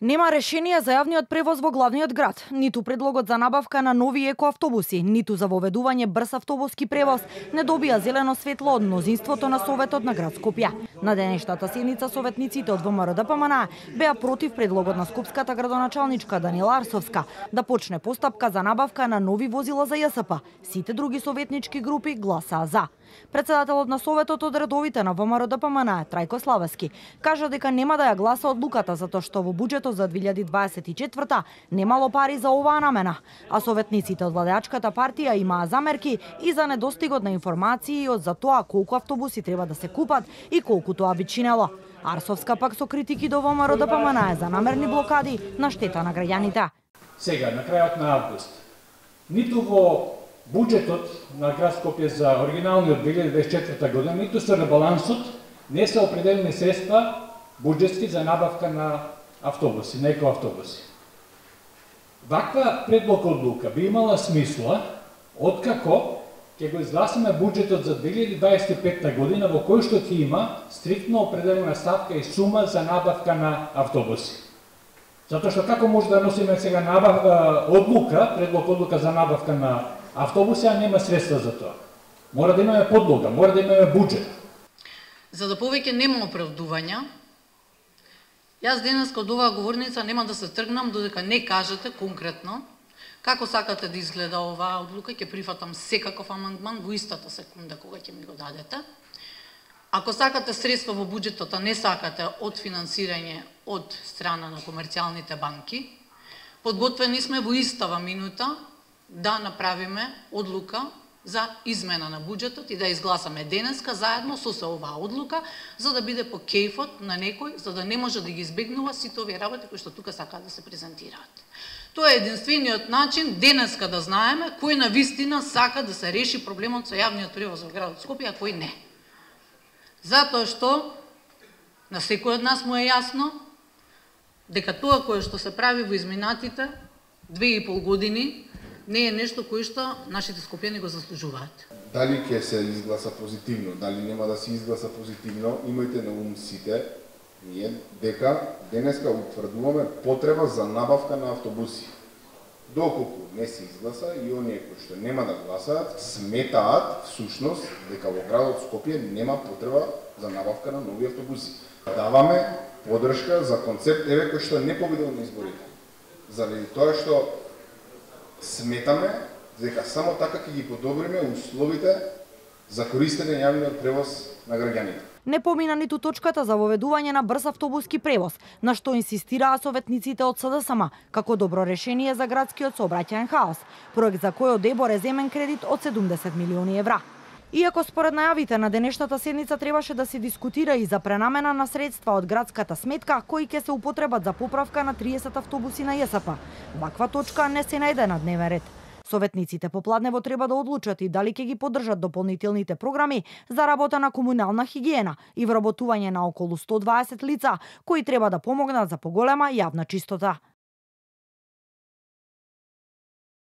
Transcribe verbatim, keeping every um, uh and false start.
Нема решение за јавниот превоз во главниот град, ниту предлогот за набавка на нови екоавтобуси, ниту за воведување брз автобуски превоз не добија зелено светло од мнозинството на Советот на град Скопје. На денешната седница советниците од ВМРО-ДПМН беа против предлогот на скопската градоначалничка Данила Арсовска да почне постапка за набавка на нови возила за ЈСП. Сите други советнички групи гласаа за. Председателот на Советот од редовите на ВМРО-ДПМН Трајко Славевски кажа дека нема да ја гласа одлуката затоа што во буџетот за две илјади дваесет и четврта немало пари за оваа намена, а советниците од владеачката партија имаа замерки и за недостигот на информации од за тоа колку автобуси треба да се купат и колку тоа би чинело. Арсовска пак со критики до ВМРО-ДПМН за намерни блокади на штета на граѓаните. Сега, на крајот на август, ниту во буџетот на град Скопје за оригиналниот две илјади дваесет и четврта година, ниту со ребалансот не се определени средства буџетски за набавка на автобуси, на екоавтобуси. Ваква предлог одлука би имала смисла откако ќе го изгласаме буџетот за две илјади дваесет и петта година во кој што ќе има стриктно определена ставка и сума за набавка на автобуси. Затоа што како може да носиме сега набавка одлука, предлог одлука за набавка на автобуси, а нема средства за тоа. Мора да имаме подлога, мора да имаме буџет. За да повеќе нема оправдувања, јас денес од оваа говорница нема да се тргнам додека не кажете конкретно како сакате да изгледа оваа одлука. Ќе прифатам секаков амандман во истата секунда кога ќе ми го дадете. Ако сакате средства во буџетот, а не сакате од финансирање од страна на комерцијалните банки, подготвени сме во истава минута да направиме одлука за измена на буџетот и да изгласаме денеска заедно со се оваа одлука, за да биде по кејфот на некој, за да не може да ги избегнува сите овие работи кои што тука сакаат да се презентираат. Тоа е единствениот начин денеска да знаеме кој на вистина сака да се реши проблемот со јавниот превоз во градот Скопје, а кој не. Затоа што на секој од нас му е јасно дека тоа кое што се прави во изминатите две и пол години не е нешто кое што нашите скопјани го заслужуваат. Дали ќе се изгласа позитивно, дали нема да се изгласа позитивно, имајте на ум сите ние дека денеска утврдуваме потреба за набавка на автобуси. Доколку не се изгласа и оние кои што нема да гласаат сметаат всушност дека во градот Скопје нема потреба за набавка на нови автобуси. Даваме подршка за концепт еве кој што не победил на изборите. Заради тоа што сметаме дека само така ќе ги подобриме условите за користење на јавниот превоз на граѓаните. Не помина ниту точката за воведување на брз автобуски превоз, на што инсистираа советниците од СДСМ како добро решение за градскиот сообраќајен хаос, проект за кој од ЕБОР е земен кредит од седумдесет милиони евра. Иако според најавите на денешната седница требаше да се дискутира и за пренамена на средства од градската сметка кои ќе се употребат за поправка на триесет автобуси на ЈСП, ваква точка не се најде на дневен ред. Советниците попладнево треба да одлучат и дали ќе ги поддржат дополнителните програми за работа на комунална хигиена и вработување на околу сто дваесет лица кои треба да помогнат за поголема јавна чистота.